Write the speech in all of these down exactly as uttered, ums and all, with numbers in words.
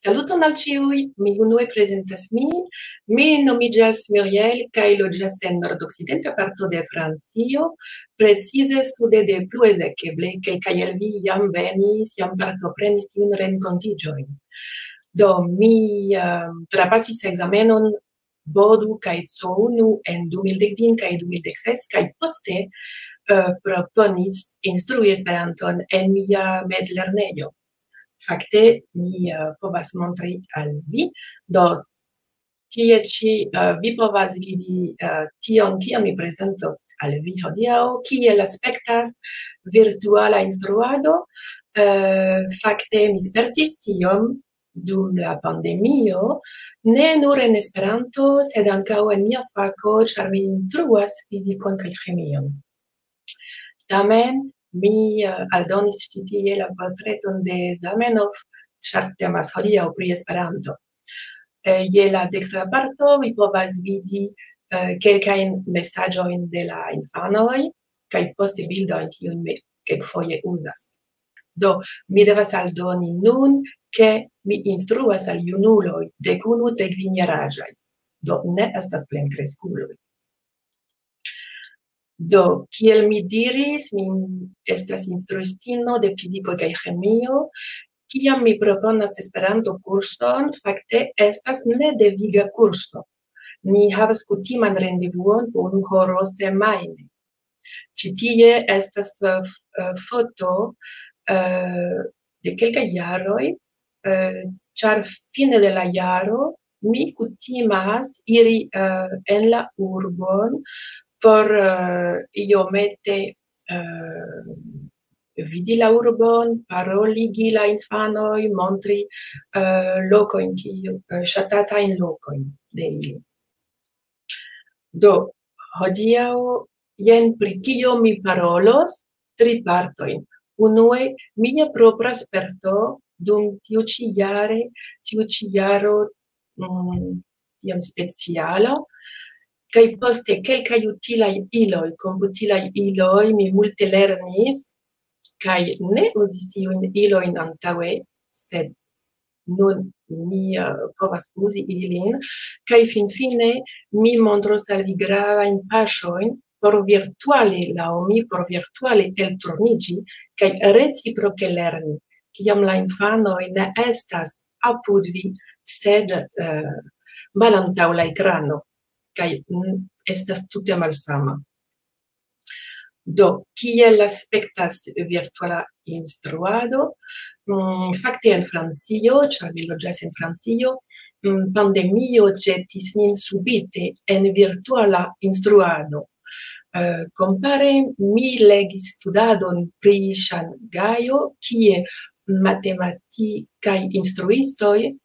Saluton al ĉiuj, mi unue prezentas min. Mi nomiĝas Muriel kaj loĝas en nordokcidenta parto de Francio, precize sude de Plouezec. Eble kelkaj el vi jam venis, jam partoprenis tiun renkontiĝojn. Do, mi, ehm, trapasis ekzamenon B O D U kaj C O unu en du mil dek kvin kaj du mil dek ses, kaj poste, eh, proponis instrui Esperanton en mia mezlernejo. Fakte, mi, eh, povas montri al vi. Do, tie ĉi, eh, vi povas vidi, eh, tion, kion mi prezentos al vi hodiaŭ, kiel aspektas virtuala instruado. Eh, fakte, mi spertis tiom dum la pandemio, ne nur en Esperanto, sed ankaŭ en mia fako, ĉar mi instruas fizikon kaj ĥemion. Tamen, mi, eh, aldonis ĉi tie la portreton de Zamenhof, ĉar temas hodiaŭ pri Esperanto. Eh, je la dekstra parto vi povas vidi, eh, kelkajn mesaĝojn de la infanoj, kaj poste bildojn, kiujn mi kelkfoje uzas. Do, mi devas aldoni nun, ke mi instruas al junuloj dek unu, dek kvin jaraĝaj. Do, ne estas plenkreskuloj. Do, kiel mi diris, mi estas instruistino de fiziko kaj ĥemio. Kiam mi proponas Esperanto-kurson, fakte estas nedeviga kurso. Ni havas kutiman rendevuon unu horo semajne. Ĉi tie estas, eh, f-, eh, foto, eh, de kelkaj jaroj, eh, ĉar fine de la jaro mi kutimas iri, eh, en la urbon por, eh, iomete, eh, vidi la urbon, paroligi la infanoj, montri, eh, lokojn, kiu, eh, ŝatatajn lokojn de ili. Do, hodiaŭ, jen pri kio mi parolos, tri partojn. Unue, mia propra sperto dum tiu ĉi jare, tiu ĉi jaro, mm, tiam speciala, kaj poste kelkaj utilaj iloj, komputilaj iloj, mi multe lernis, kaj ne uzis tiujn ilojn antaŭe, sed nun mi, eh, povas uzi ilin, kaj finfine mi montros al vi gravajn paŝojn por virtuale, laŭ mi, por virtuale elturniĝi kaj reciproke lerni, kiam la infanoj ne estas apud vi, sed, eh, malantaŭ la ekrano, kaj, mm, estas tute malsama. Do, kiel aspektas virtuala instruado? Mm, fakte en Francio, ĉar mi loĝas en Francio, mm, pandemio ĵetis nin subite en virtuala instruado. Eh, kompare, mi legis studadon pri Ŝangajo, kie matematikaj instruistoj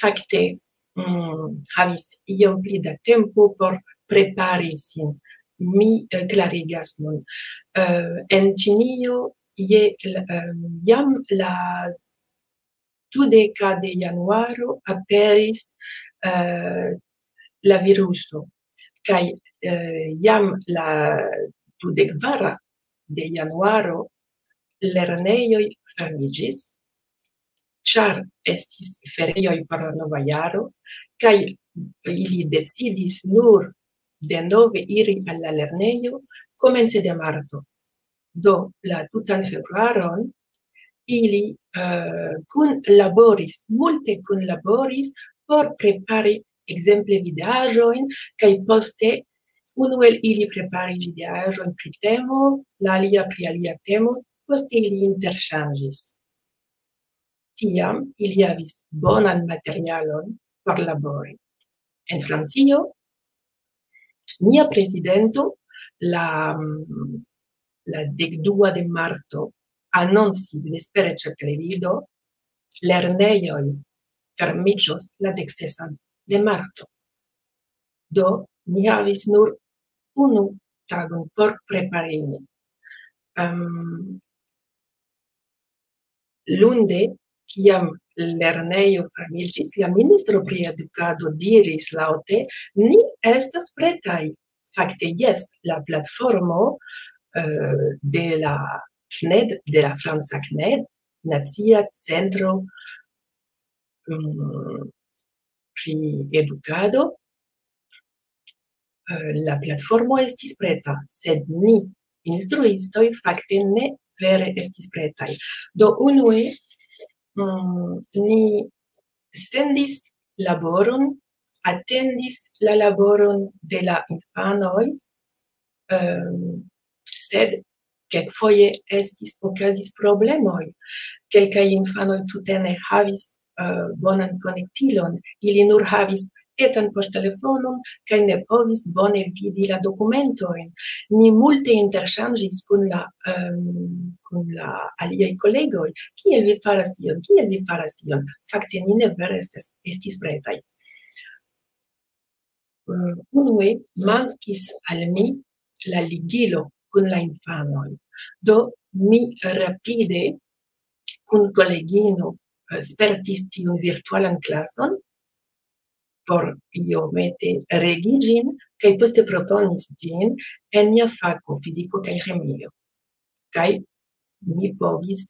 fakte, mm, havis iom pli da tempo por prepari sin. Mi, eh, klarigas nun. Eh, en Ĉinio je l-, em, jam la dudeka de januaro aperis, eh, la viruso, kaj, eh, jam la dudek kvara de januaro lernejoj fermiĝis, ĉar estis ferioj por la nova jaro, kaj ili decidis nur denove iri al la lernejo komence de marto. Do, la tutan februaron ili, eh, kunlaboris, multe kunlaboris por prepari ekzemple videaĵojn, kaj poste unu el ili preparis videaĵon pri temo, la alia pri alia temo, poste ili interŝanĝis. Tiam ili havis bonan materialon por labori. En Francio, nia prezidento la, la dekdua de marto anoncis vespere ĉe televido: "Lernejoj fermiĝos la dek sesan de marto." Do, ni havis nur unu tagon por prepari nin. Em, lunde, kiam lernejo fermiĝis, la ministro pri edukado diris laŭte: "Ni estas pretaj." Fakte, jes, la platformo, eh, de la CNED, de la franca CNED, Nacia Centro mm, pri edukado, eh, la platformo estis preta, sed ni, instruistoj, fakte ne vere estis pretaj. Do, unue, mm, ni sendis laboron, atendis la laboron de la infanoj, ehm, sed kelkfoje estis, okazis problemoj. Kelkaj infanoj tute ne havis, eh, bonan konektilon, ili nur havis etan poŝtelefonon kaj ne povis bone vidi la dokumentojn. Ni multe interŝanĝis kun la, ehm, kun la aliaj kolegoj. "Kiel vi faras tion? Kiel vi faras tion?" Fakte ni ne vere estes, estis pretaj. Eh, unue mankis al mi la ligilo kun la infanoj. Do mi rapide kun kolegino, eh, spertis tiun virtualan klason por iomete regi ĝin, kaj poste proponis ĝin en mia fako, fiziko kaj ĥemio. Kaj mi povis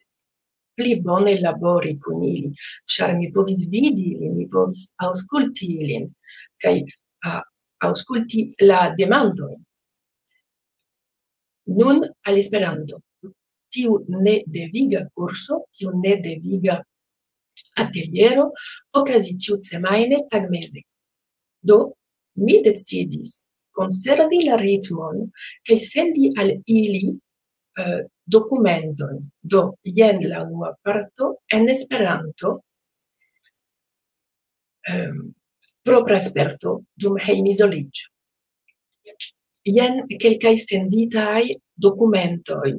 pli bone labori kun ili, ĉar mi povis vidi ilin, mi povis aŭskulti ilin, kaj, ah, aŭskulti la demandojn. Nun al Esperanto. Tiu nedeviga kurso, tiu nedeviga ateliero okazis ĉiusemajne tagmeze. Do, mi decidis konservi la ritmon kaj sendi al ili, eh, dokumenton. Do, jen la unua parto en Esperanto, ehm, propra sperto dum hejmizoliĝo. Jen kelkaj senditaj dokumentoj.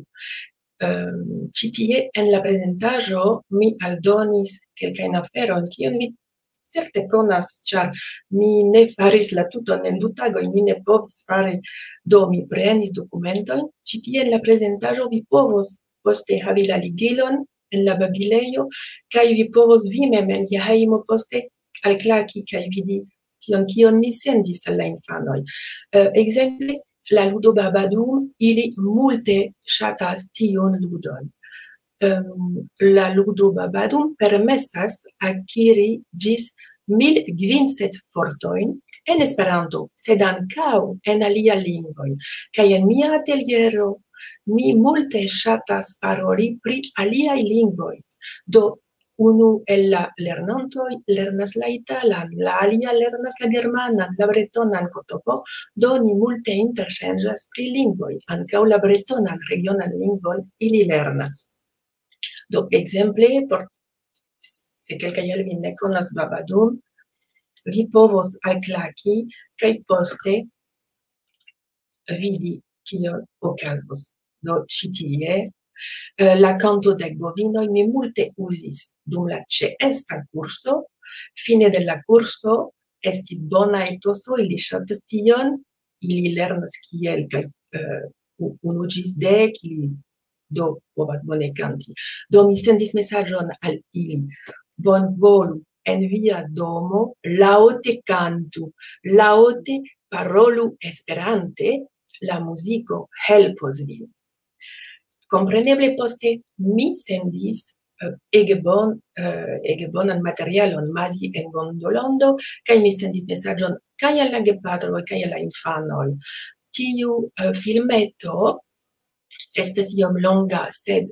Ehm, ĉi tie en la prezentaĵo mi aldonis kelkajn aferojn, kion vi certe konas, ĉar mi ne faris la tuton en du tagoj, mi ne povis fari, do mi prenis dokumentojn. Ĉi tie en la prezentaĵo vi povos poste havi la ligilon en la babilejo, kaj vi povos vi mem en via hejmo poste alklaki kaj vidi tion, kion mi sendis al la infanoj. Eh, ekzemple, la ludo Babadum, ili multe ŝatas tiun ludon. Ehm, la ludo Babadum permesas akiri ĝis mil kvin cent vortojn en Esperanto, sed ankaŭ en alia lingvoj. Kaj en mia ateliero mi multe ŝatas paroli pri aliaj lingvoj. Do, unu el la lernantoj lernas la italan, la alia lernas la germanan, la bretonan, kotopo, do ni multe interŝanĝas pri lingvoj, ankaŭ la bretonan regionan lingvon ili lernas. Do, ekzemple, por, se kelkaj el vi ne konas Babadum, vi povos alklaki kaj poste vidi, kio okazos. Do, ĉi tie, eh, la kanto de bovinoj mi multe uzis dum la ĉeesta kurso. Fine de la kurso estis bona etoso, ili ŝatis tion, ili lernas kiel kaj, eh, u-, unu ĝis dek, ili do povas bone kanti. Do mi sendis mesaĝon al ili: "Bonvolu en via domo laŭte kantu, laŭte parolu Esperante, la muziko helpos vin." Kompreneble poste mi sendis, eh, ege bon-, eh, ege bonan materialon, Mazi en Gondolondo, kaj mi sendis mesaĝon kaj al la gepatroj, kaj al la infanoj. Tiu, eh, filmeto estas iom longa, sed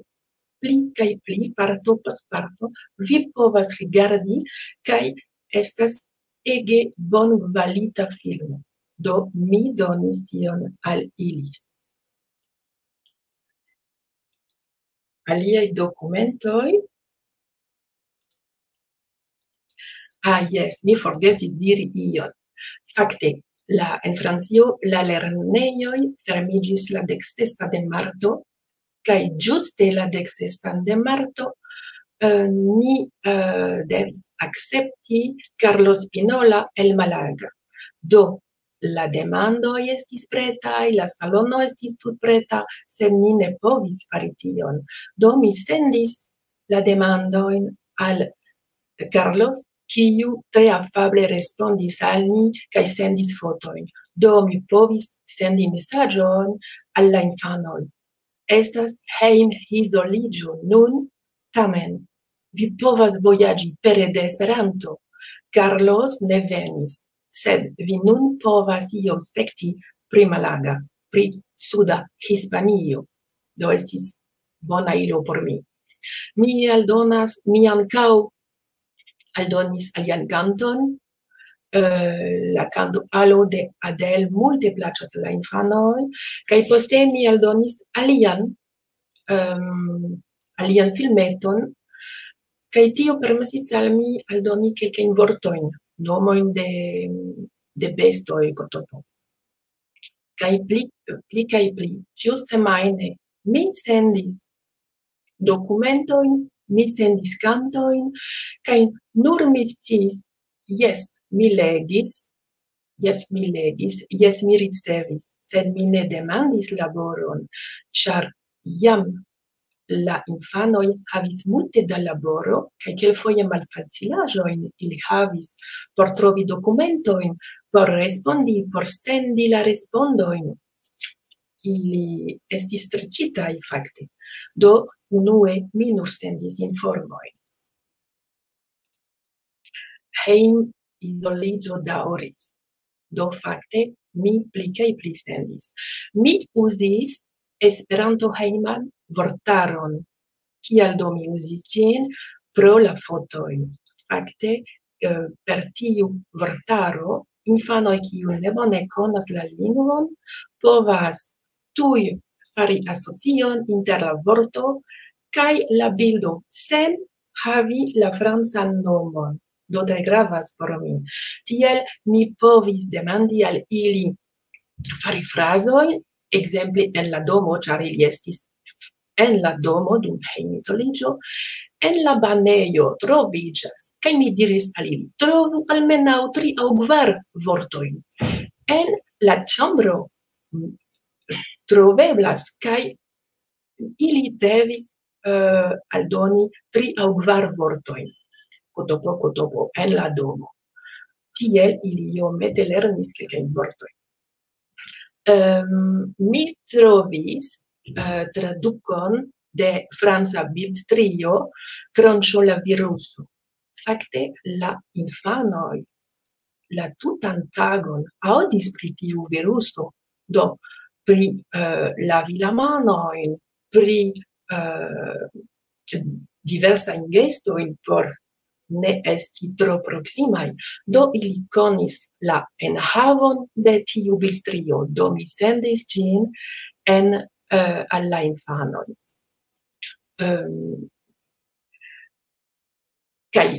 pli kaj pli, parto post parto, vi povas rigardi, kaj estas ege bonkvalita filmo. Do, mi donis tion al ili. Aliaj dokumentoj. Ah, jes, mi forgesis diri ion. Fakte, la, en Francio la lernejoj fermiĝis la dek sesa de marto, kaj ĝuste la dek sesan de marto, eh, ni, eh, devis akcepti Carlos Spinola el Malaga. Do, la demandoj estis pretaj, la salono estis tut preta, sed ni ne povis fari tion. Do, mi sendis la demandojn al Carlos, kiu tre afable respondis al ni kaj sendis fotojn. Do, mi povis sendi mesaĝon al la infanoj. Estas hejmizoliĝo nun, tamen vi povas vojaĝi pere de Esperanto. Carlos ne venis, sed vi nun povas iom spekti pri Malaga, pri suda Hispanio. Do estis bona ilo por mi. Mi aldonas, mi ankaŭ aldonis alian kanton, eh, la kanto Alo de Adele multe plaĉas al la infanoj, kaj poste mi aldonis alian, ehm, alian filmeton, kaj tio permesis al mi aldoni kelkajn vortojn, nomojn de, de bestoj, kotopo. Kaj pli, pli kaj pli, ĉiusemajne mi sendis dokumentojn, mi sendis kantojn, kaj nur mi sciis, jes, mi legis, jes, mi legis, jes, mi ricevis, sed mi ne demandis laboron, ĉar jam la infanoj havis multe da laboro, kaj kelkfoje malfacilaĵojn ili havis por trovi dokumentojn, por respondi, por sendi la respondojn. Ili estis streĉitaj fakte. Do, unue mi nur sendis informojn. Hejm izoliĝo daŭris. Do, fakte, mi pli kaj pli sendis. Mi uzis Esperanto hejman vortaron. Kial do mi uzis ĝin? Pro la fotoj. Fakte, eh, per tiu vortaro, infanoj, kiu ne bone konas la lingvon, povas tuj fari asocion inter la vorto kaj la bildo sen havi la francan nomon. Do tre gravas por mi. Tiel mi povis demandi al ili fari frazoj, ekzemple en la domo, ĉar ili estis en la domo dum hejmizoliĝo, en la banejo troviĝas, kaj mi diris al ili, trovu almenaŭ tri aŭ kvar vortojn. En la ĉambro, mm, troveblas, kaj ili devis, eh, aldoni tri aŭ kvar vortojn. Kotopo, kotopo, en la domo. Tiel ili iomete lernis kelkajn vortojn. Ehm, mi trovis, eh, tradukon de franca bildstrio Kronĉo la viruso. Fakte, la infanoj la tutan tagon aŭdis pri tiu viruso, do pri, eh, lavi la manojn, pri, eh, diversajn gestojn por ne esti tro proksimaj. Do ili konis la enhavon de tiu bildstrio, do mi sendis ĝin en, eh, al la infanoj. Ehm, kaj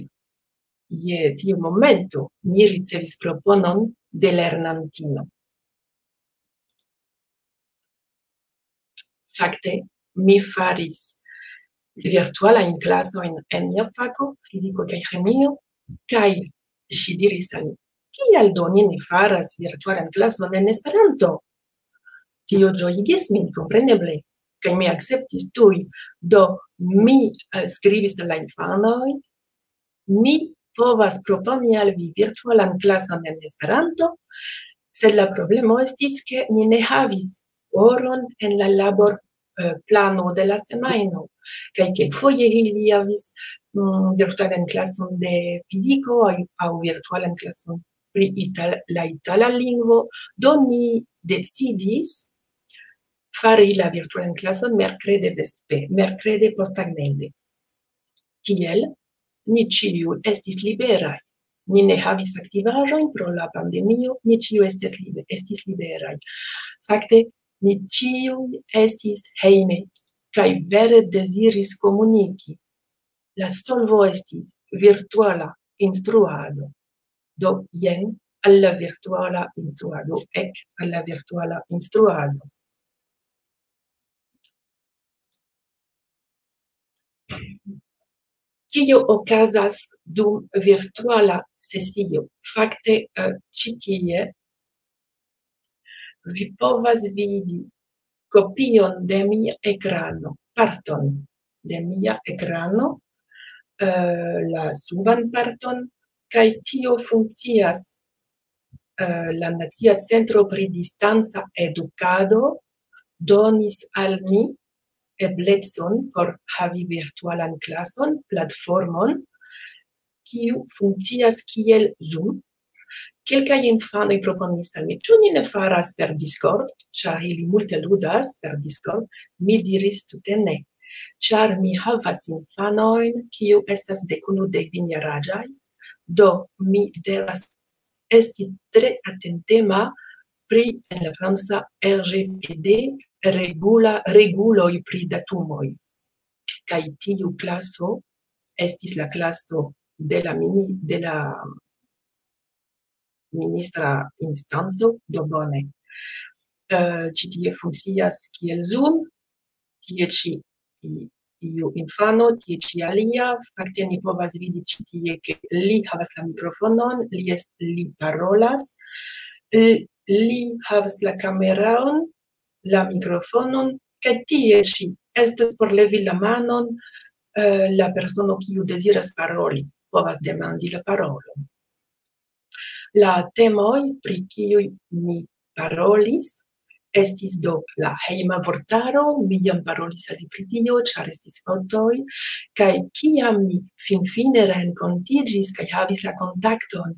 je tiu momento mi ricevis proponon de lernantino. Fakte, mi faris virtualajn klasojn en mia fako, fiziko kaj ĥemio, kaj ŝi diris al mi, kial do ni ne faras virtualan klason en Esperanto? Tio ĝojigis min, kompreneble, kaj mi akceptis tuj. Do, mi, eh, skribis al la infanoj, mi povas proponi al vi virtualan klason en Esperanto, sed la problemo estis, ke mi ne havis oron en la labor, eh, plano de la semajno. Kaj kelkfoje ili havis, mm, virtualan klason de fiziko aŭ, aŭ virtualan klason pri ital-, la itala lingvo. Do ni decidis fari la virtualan klason merkrede vespe-, merkrede posttagmeze. Tiel, ni ĉiuj estis liberaj. Ni ne havis aktivaĵojn pro la pandemio, ni ĉiuj estis libe-, estis liberaj. Fakte, ni ĉiuj estis hejme kaj vere deziris komuniki. La solvo estis virtuala instruado. Do, jen al la virtuala instruado, ek al la virtuala instruado. Kio okazas dum virtuala sesio? Fakte, eh, ĉi tie vi povas vidi kopion de mia ekrano, parton de mia ekrano, eh, la suban parton, kaj tio funkcias, eh, la Nacia Centro pri Distanca Edukado donis al ni eblecon por havi virtualan klason, platformon, kiu funkcias kiel Zoom. Kelkaj infanoj proponis al mi, ĉu ni ne faras per Discord, ĉar ili multe ludas per Discord. Mi diris tute ne, ĉar mi havas infanojn, kiu estas dek unu, dek kvin jaraĝaj, do mi devas esti tre atentema pri en la franca R G P D regula, reguloj pri datumoj. Kaj tiu klaso estis la klaso de la mini-, de la ministra instanco, do bone. Eh, ĉi tie funkcias kiel Zoom, tie ĉi i-, iu infano, tie ĉi alia. Fakte ni povas vidi ĉi tie, ke li havas la mikrofonon, li est-, li parolas, eh, li havas la kameraon, la mikrofonon, kaj tie ĉi estas por levi la manon, eh, la persono, kiu deziras paroli, povas demandi la parolon. La temoj, pri kiuj ni parolis, estis do la hejma vortaro, mi jam parolis al vi pri tio, ĉar estis fotoj, kaj kiam ni finfine renkontiĝis kaj havis la kontakton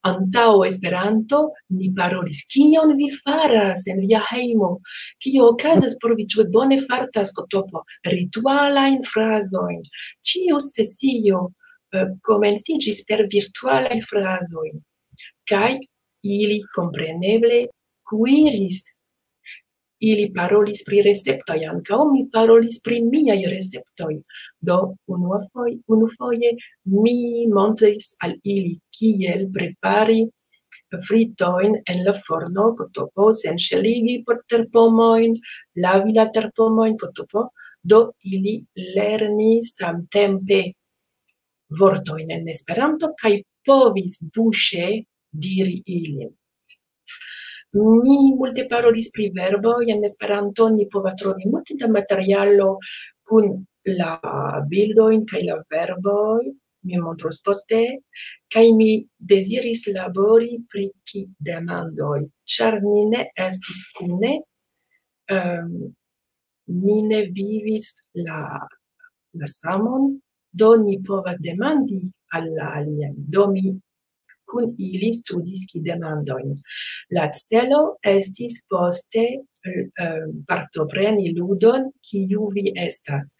antaŭ Esperanto, ni parolis, "Kion vi faras en via hejmo? Kio okazas por vi? Ĉu bone fartas, Kotopo?" Ritualajn frazojn. Ĉiu sesio, eh, komenciĝis per virtualaj frazoj. Kaj ili kompreneble kuiris. Ili parolis pri receptoj, ankaŭ mi parolis pri miaj receptoj. Do, unua foj-, unufoje mi montris al ili, kiel prepari fritojn en la forno, Kotopo, senŝeligi por terpomojn, lavi la terpomojn, Kotopo. Do, ili lernis samtempe vortojn en Esperanto kaj povis buŝe diri ilin. Ni multe parolis pri verboj en Esperanto, ni povas trovi multe da materialo kun la bildojn kaj la verboj, mi montros poste, kaj mi deziris labori pri ki demandoj, ĉar ni ne estis kune, ehm, ni ne vivis la, la samon, do ni povas demandi al la aliaj. Do mi kun ili studis ki demandojn. La celo estis poste, eh, partopreni ludon, kiu vi estas.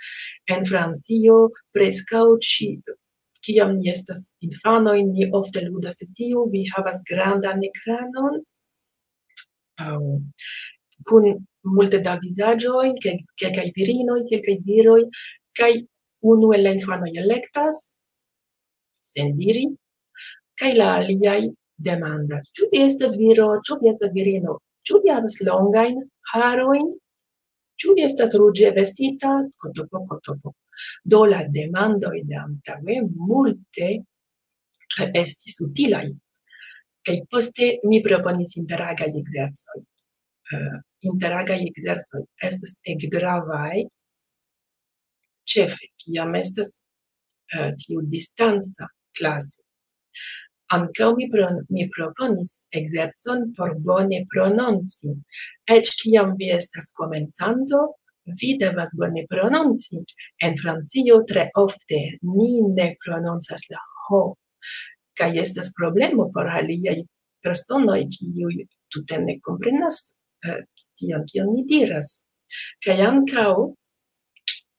En Francio, preskaŭ ĉi-, kiam ni estas infanoj, ni ofte ludas tiu, vi havas grandan ekranon, aŭ kun multe da vizaĝoj, ke-, kelkaj virinoj, kelkaj viroj, kaj unu el la infanoj elektas, sen diri, kaj la aliaj demandas, "Ĉu vi estas viro? Ĉu vi estas virino? Ĉu vi havas longajn harojn? Ĉu vi estas ruĝe vestita?" Kotopo, kotopo. Do la demandoj de antaŭe multe, eh, estis utilaj. Kaj poste mi proponis interagaj ekzercoj. Eh, interagaj ekzercoj estas ege gravaj, ĉefe kiam estas, eh, tiu distanca klaso. Ankaŭ mi pro-, mi proponis ekzercon por bone prononci. Eĉ kiam vi estas komencanto, vi devas bone prononci. En Francio tre ofte ni ne prononcas la ho. Kaj estas problemo por aliaj personoj, kiuj tute ne komprenas, eh, tion, kion ni diras. Kaj ankaŭ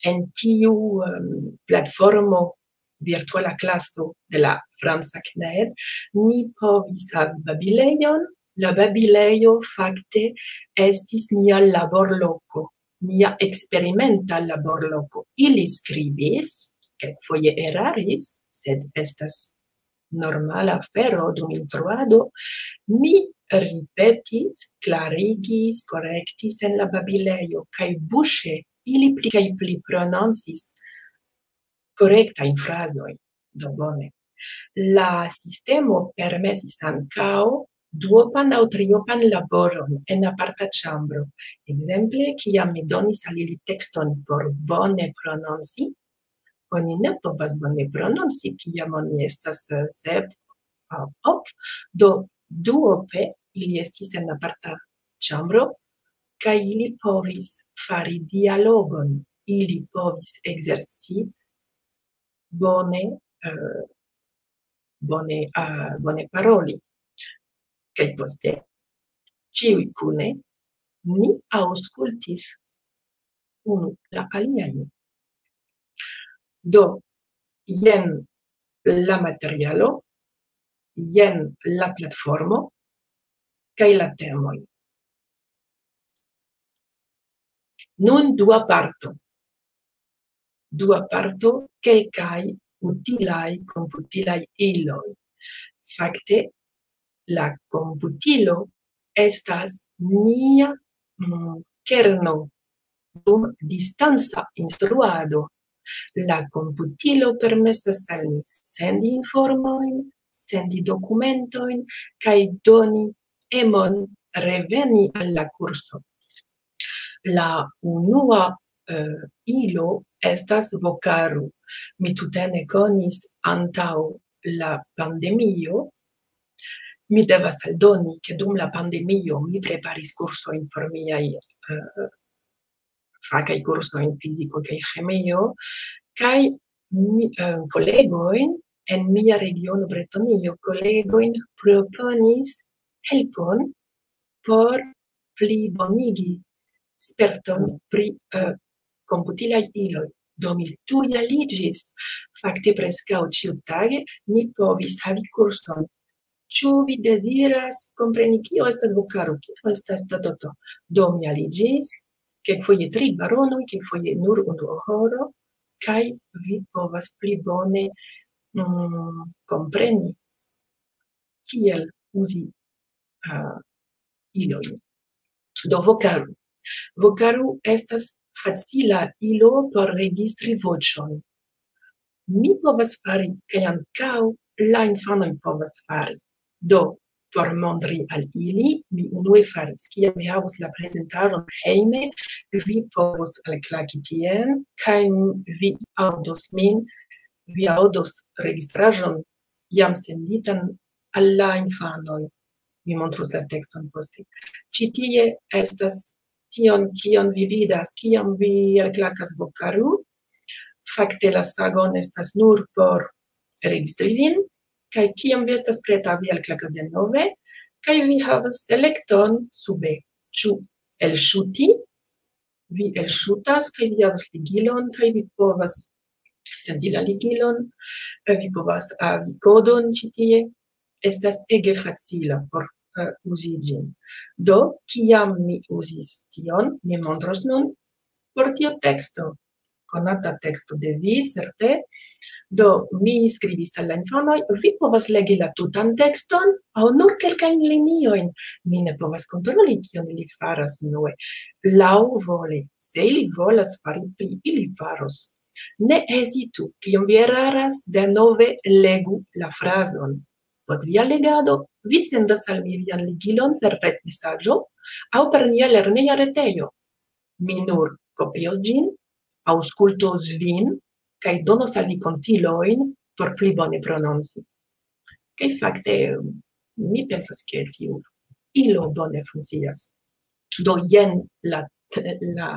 en tiu, em, platformo virtuala klaso de la franca kner, ni povis havi babilejon. La babilejo fakte estis nia laborloko, nia eksperimenta laborloko. Ili skribis, kelkfoje eraris, sed estas normala afero dum instruado, mi ripetis, klarigis, korektis en la babilejo, kaj buŝe ili pli kaj pli prononcis korektajn frazojn. Do bone. La sistemo permesis ankaŭ duopan aŭ triopan laboron en aparta ĉambro. Ekzemple, kiam mi donis al ili tekston por bone prononci, oni ne povas bone prononci, kiam oni estas, eh, sep aŭ ok. Do, duope ili estis en aparta ĉambro, kaj ili povis fari dialogon. ili povis ekzerci bone, eh, bone, ah, bone paroli. Kaj poste ĉiuj kune ni aŭskultis unu la aliajn. Do, jen la materialo, jen la platformo kaj la temoj. Nun dua parto. Dua parto, kelkaj utilaj komputilaj iloj. Fakte, la komputilo estas nia, mm, kerno dum distanca instruado. La komputilo permesas al ni sendi informojn, sendi dokumentojn kaj doni emon reveni al la kurso. La unua, eh, ilo estas Vokaru. Mi tute ne konis antaŭ la pandemio. Mi devas aldoni, ke dum la pandemio mi preparis kursojn por miaj, eh, fakaj kursoj en fiziko kaj ĥemio, kaj mi, eh, kolegojn en mia regiono Bretonio, kolegojn proponis helpon por plibonigi sperton pri, eh, komputilaj iloj. Do mi tuj aliĝis. Fakte preskaŭ ĉiutage ni povis havi kurson. Ĉu vi deziras kompreni, kio estas Vokaru, kio estas Tototo? Do mi aliĝis, kelkfoje tri baronoj, kelkfoje nur unu horo, kaj vi povas pli bone, mm, kompreni, kiel uzi, ah, ilojn. Do Vokaru. Vokaru estas facila ilo por registri voĉon. Mi povas fari, kaj ankaŭ la infanoj povas fari. Do, por montri al ili, mi unue faris, kiam mi havos la prezentaron hejme, vi povos alklaki tien, kaj vi aŭdos min, vi aŭdos registraĵon jam senditan al la infanoj. Mi montros la tekston poste. Ĉi tie estas tion, kion vi vidas, kiam vi alklakas Vokaru. Fakte la sagon estas nur por registri vin, kaj kiam vi estas preta, vi alklakas denove, kaj vi havas elekton sube, ĉu elŝuti, vi elŝutas, kaj vi havas ligilon, kaj vi povas sendi la ligilon, eh, vi povas havi kodon ĉi tie. Estas ege facila por, eh, uzi ĝin. Do, kiam mi uzis tion, mi montros nun por tio teksto. Konata teksto de vi, certe. Do, mi skribis al la infanoj, vi povas legi la tutan tekston aŭ nur kelkajn liniojn. Mi ne povas kontroli, kion ili faras unue. Laŭvole, se ili volas fari pli, ili faros. Ne hezitu, kiam vi eraras, denove legu la frazon. Post via legado, vi sendas al mi vian ligilon per retmesaĝo aŭ per nia lerneja retejo. Mi nur kopios ĝin, aŭskultos vin, kaj donos al vi konsilojn por pli bone prononci. Kaj fakte, mi pensas, ke tiu ilo bone funkcias. Do, jen la, la,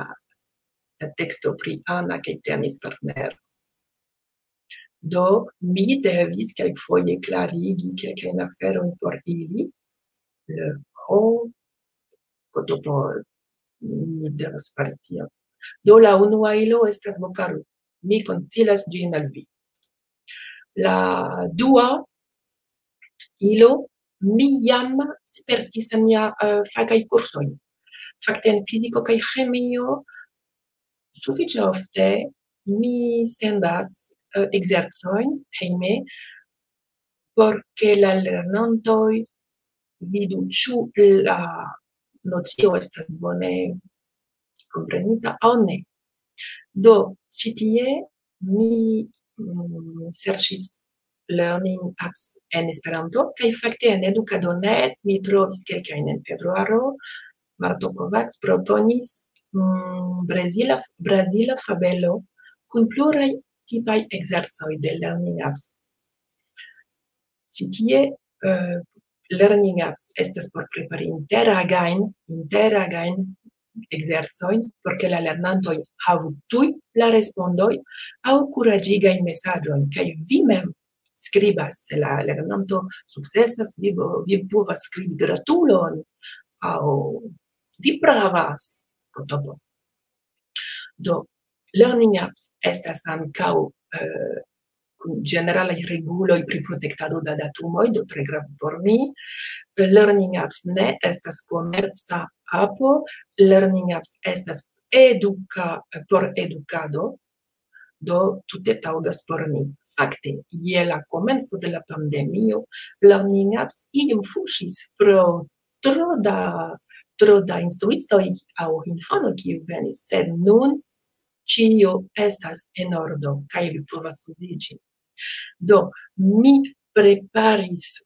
la teksto pri Ana kaj Tenis Turner. Do, mi devis kelkfoje klarigi kelkajn aferojn por ili. Eh, ho, kotopo, mi devas fari tion. Do, la unua ilo estas Vokaru. Mi konsilas ĝin al vi. La dua ilo, mi jam spertis en mia, eh, fakaj kursoj. Fakte en fiziko kaj ĥemio sufiĉe ofte mi sendas, eh, ekzercojn hejme por ke la lernantoj vidu, ĉu la nocio estas bone komprenita aŭ ne. Do, ĉi tie mi, mm, serĉis learning apps en Esperanto, kaj fakte en edukadonet mi trovis kelkajn en februaro. Marto Kovacs proponis, mm, brazila, brazila fabelo kun pluraj tipaj ekzercoj de learning apps. Ĉi tie, eh, learning apps estas por prepari interagajn, interagajn ekzercojn, por ke la lernantoj havu tuj la respondoj aŭ kuraĝigajn mesaĝojn, kaj vi mem skribas, se la lernanto sukcesas, vi, vi povas skribi gratulon aŭ vi pravas, kotopo. Do, Learning Apps estas ankaŭ eh, kun ĝeneralaj reguloj pri protektado da datumoj, do tre grave por mi. Learning Apps ne estas komerca apo, Learning Apps estas eduka, por edukado, do tute taŭgas por ni. Fakte, je la komenco de la pandemio, Learning Apps iom fuŝis pro tro da, tro da instruistoj aŭ infanoj, kiu venis, sed nun ĉio estas en ordo, kaj vi povas uziĝi. Do, mi preparis,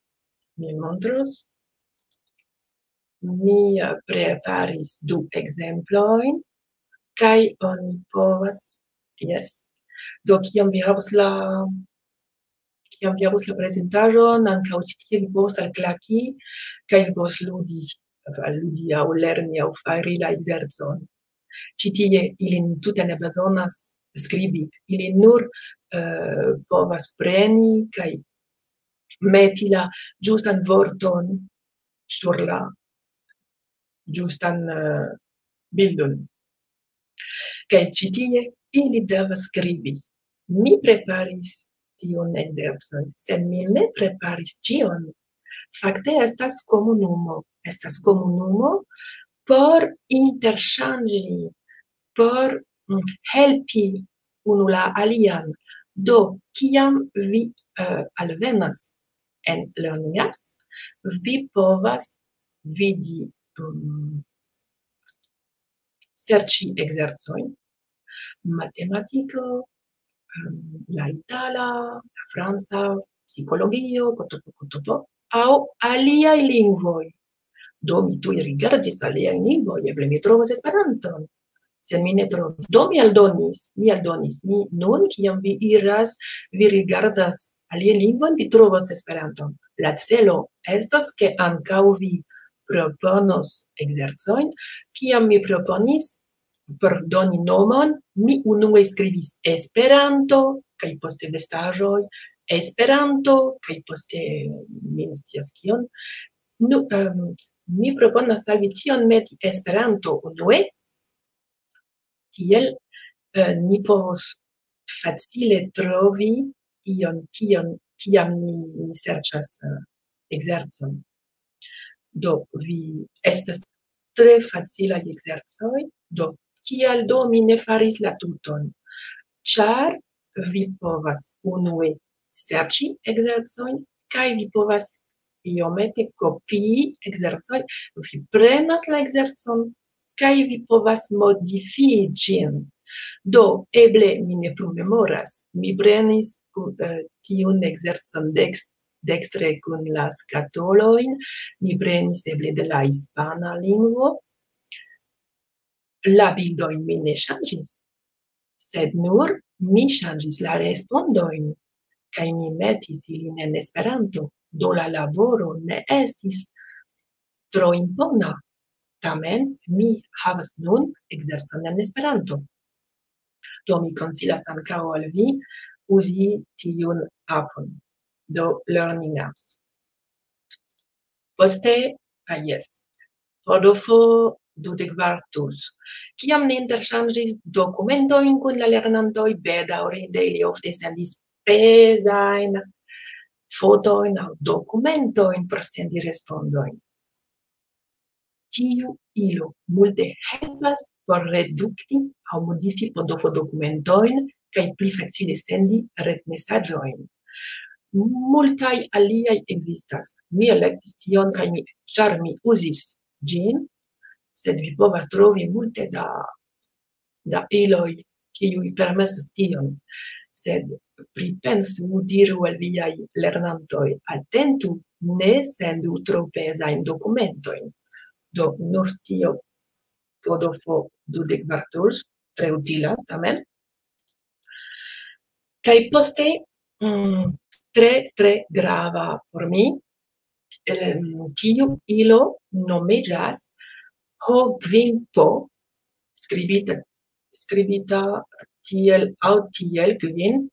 mi montros, mi eh, preparis du ekzemplojn, kaj oni povas, jes. Do, kiam vi havos la, kiam vi havos la prezentaĵon, ankaŭ ĉi tie vi povos alklaki, kaj vi povos ludi, ludi aŭ lerni aŭ fari la ekzercon. Ĉi tie ilin tute ne bezonas skribi, ili nur eh, povas preni kaj meti la ĝustan vorton sur la ĝustan eh, bildon. Kaj ĉi tie ili devas skribi. Mi preparis tiun ekzercon, sed mi ne preparis ĉion. Fakte estas komunumo, estas komunumo por interŝanĝi, por mm, helpi unu la alian. Do, kiam vi eh, alvenas en Learning Apps, vi povas vidi mm, serĉi ekzercojn, matematiko, em, la itala, la franca, psikologio, kotopo, kotopo, aŭ aliaj lingvoj. Do mi tuj rigardis aliajn lingvojn, eble mi trovos Esperanton. Sed mi ne trovis. Do mi aldonis, mi aldonis, mi nun, kiam vi iras, vi rigardas aliajn lingvojn, vi trovos Esperanton. La celo estas, ke ankaŭ vi proponos ekzercojn. Kiam mi proponis, por doni nomon, mi unue skribis Esperanto, kaj poste vestaĵoj, Esperanto, kaj poste mi ne scias kion. Nu, em, mi proponas al vi ĉion meti Esperanto unue, tiel eh, ni povos facile trovi ion, kion, kiam ni, ni serĉas eh, ekzercon. Do, vi estas tre facilaj ekzercoj, do, kial do mi ne faris la tuton? Ĉar vi povas unue serĉi ekzercojn, kaj vi povas iomete kopii ekzercojn, vi prenas la ekzercon, kaj vi povas modifii ĝin. Do, eble mi ne plu memoras, mi prenis ku- eh, tiun ekzercon dekst- dekstre kun la skatolojn, mi prenis eble de la hispana lingvo. La bildojn mi ne ŝanĝis, sed nur mi ŝanĝis la respondojn, kaj mi metis ilin en Esperanto, do la laboro ne estis tro impona. Tamen mi havas nun ekzercon en Esperanto. Do mi konsilas ankaŭ al vi uzi tiun apon. Do Learning Apps. Poste, ah jes, Rodolfo dudek kvar tus. Kiam ni interŝanĝis dokumentojn kun la lernantoj, bedaŭrinde ili ofte sendis pezajn fotojn aŭ dokumentojn por sendi respondojn. Tiu ilo multe helpas por redukti aŭ modifi P D F dokumentojn kaj pli facile sendi retmesaĝojn. Multaj aliaj ekzistas. Mi elektis tion kaj mi, ĉar mi uzis ĝin, sed vi povas trovi multe da, da iloj, kiuj permesas tion. Sed pripensu, diru al viaj lernantoj, atentu, ne sendu tro pezajn dokumentojn. Do, nur tio P D F dudek kvar tools, tre utilas, tamen. Kaj poste, mm, tre, tre grava por mi, em, tiu ilo nomiĝas Ho Kvin Po, skribita, skribita tiel aŭ tiel kvin.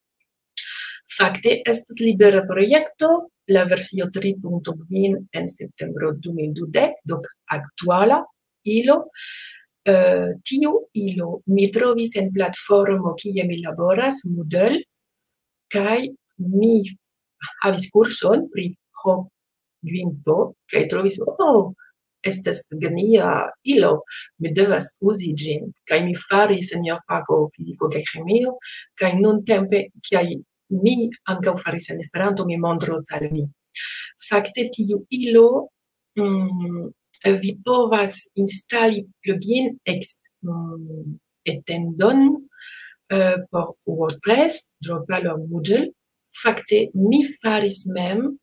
Fakte estas libera projekto, la versio tri punto kvin en septembro du mil dudek, do aktuala ilo. Eh, tiu ilo mi trovis en platformo, kie mi laboras, Moodle, kaj mi havis kurson pri ho gvin po, kaj trovis, oh, estas genia ilo, mi devas uzi ĝin. Kaj mi faris en mia fako fiziko kaj ĥemio, kaj nuntempe, kiaj mi ankaŭ faris en Esperanto, mi montros al vi. Fakte, tiu ilo, mm, vi povas instali plugin ex, mm, etendon, eh, por WordPress, Drupal aŭ Moodle. Fakte, mi faris mem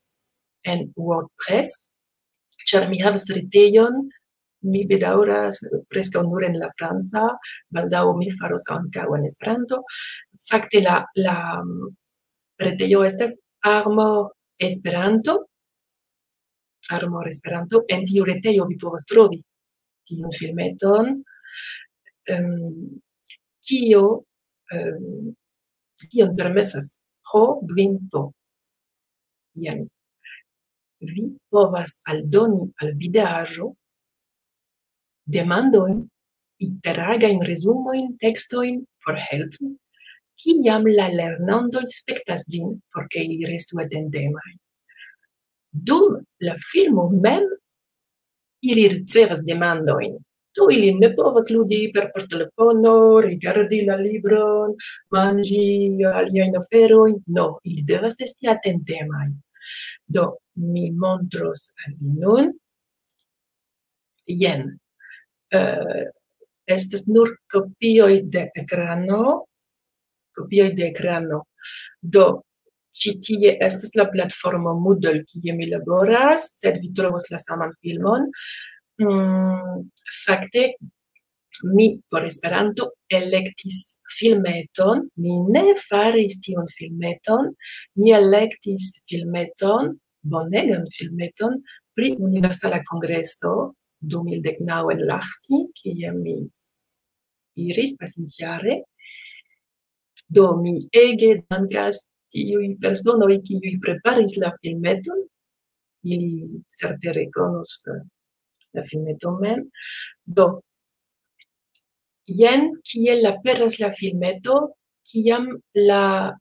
en WordPress, ĉar mi havas retejon, mi bedaŭras, preskaŭ nur en la franca, baldaŭ mi faros ankaŭ en Esperanto. Fakte, la, la, mm, retejo estas Armor Esperanto, Armor Esperanto. En tiu retejo vi povas trovi tiun filmeton, em, kio, em, kion permesas ho gvin po. Jen. Vi povas aldoni al videaĵo demandojn, interagajn resumojn, tekstojn por helpi, kiam la lernantoj spektas ĝin, por ke ili restu atentemaj. Dum la filmo mem ili ricevas demandojn. Do ili ne povas ludi per poŝtelefono, rigardi la libron, manĝi aliajn aferojn. No, ili devas esti atentemaj. Do, mi montros al vi nun. Jen. Eh, estas nur kopioj de ekrano. Kopioj de ekrano. Do, ĉi tie estas la platformo Moodle, kie mi laboras, sed vi trovos la saman filmon. Mm, fakte, mi por Esperanto elektis filmeton, mi ne faris tiun filmeton, mi elektis filmeton, bonegan filmeton pri Universala Kongreso du mil dek naŭ en Lahti, kie mi iris pasintjare. Do, mi ege dankas tiuj personoj, kiuj preparis la filmeton. Ili certe rekonos, eh, la filmeton mem. Do, jen kiel aperas la filmeto, kiam la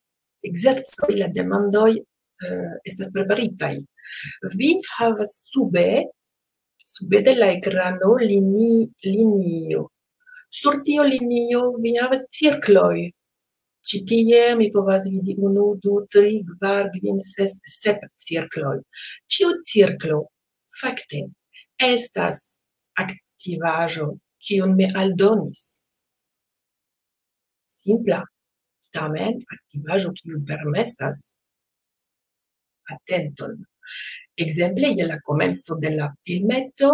ekzercoj, la demandoj, eh, estas preparitaj. Vi havas sube, sube de la ekrano lini-, linio. Sur tio linio vi havas cirkloj. Ĉi tie mi povas vidi unu, du, tri, kvar, kvin, ses, sep cirkloj. Ĉiu cirklo fakte estas aktivaĵo, kiun mi aldonis. Simpla, tamen aktivaĵo, kiu permesas atenton. Ekzemple, je la komenco de la filmeto,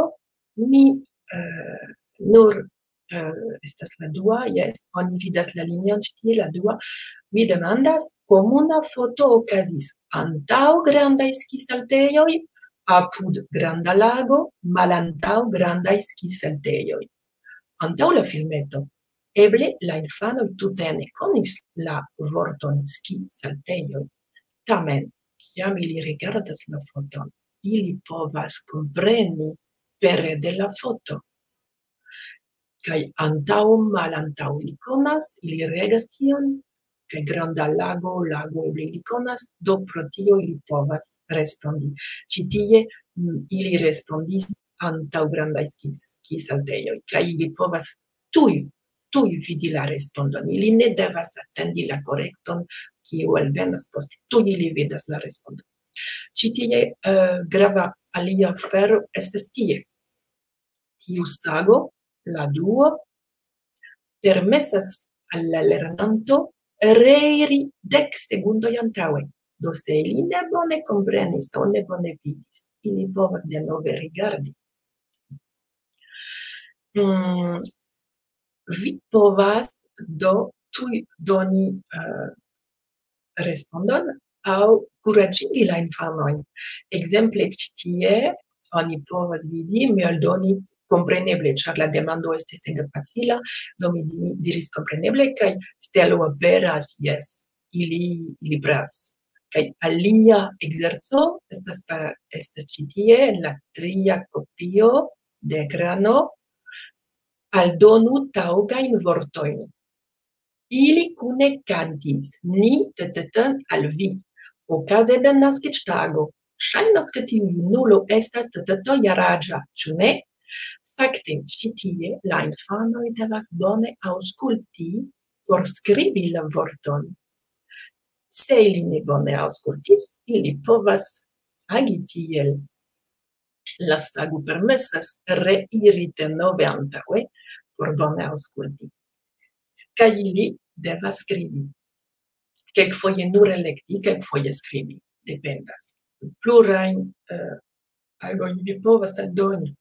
mi, eh, nur, eh, estas la dua, jes, oni vidas la linion ĉi tie, la dua. Mi demandas, komuna foto okazis antaŭ grandaj skisaltejoj, apud granda lago, malantaŭ grandaj skisaltejoj. Antaŭ la filmeto, eble la infanoj tute ne konis la vorton skisaltejoj. Tamen, kiam ili rigardas la foton, ili povas kompreni pere de la foto. Kaj antaŭ, malantaŭ ili konas, ili regas tion, kaj granda lago, lago eble ili konas, do pro tio ili povas respondi. Ĉi tie, mm, ili respondis antaŭ grandaj skis-, skisaltejoj, kaj ili povas tuj, tuj vidi la respondon. Ili ne devas atendi la korekton, kiu alvenas poste. Tuj ili vidas la respondon. Ĉi tie, eh, grava alia afero estas tie. Tiu sago, la duo, permesas al la lernanto reiri dek sekundoj antaŭe. Do, se ili ne bone komprenis aŭ ne bone vidis, ili povas denove rigardi. Mm, vi povas do tuj doni, eh, respondon aŭ kuraĝigi la infanojn. Ekzemple, ĉi tie oni povas vidi, mi aldonis kompreneble, ĉar la demando estis ege facila, do mi di-, diris kompreneble, kaj stelo aperas, jes, ili, ili pravas. Kaj alia ekzerco estas pa-, estas ĉi tie, en la tria kopio de ekrano, aldonu taŭgajn vortojn. Ili kune kantis, ni tetetan al vi. Okaze de naskiĝtago, ŝajnas, ke tiu junulo estas teteto jaraĝa, ĉu ne? Fakte, ĉi tie la infanoj devas bone aŭskulti por skribi la vorton. Se ili ne bone aŭskultis, ili povas agi tiel. La sago permesas reiri denove antaŭe por bone aŭskulti. Kaj ili devas skribi. Kelkfoje nur elekti, kelkfoje skribi. Dependas. Plurajn, eh, agojn vi povas aldoni.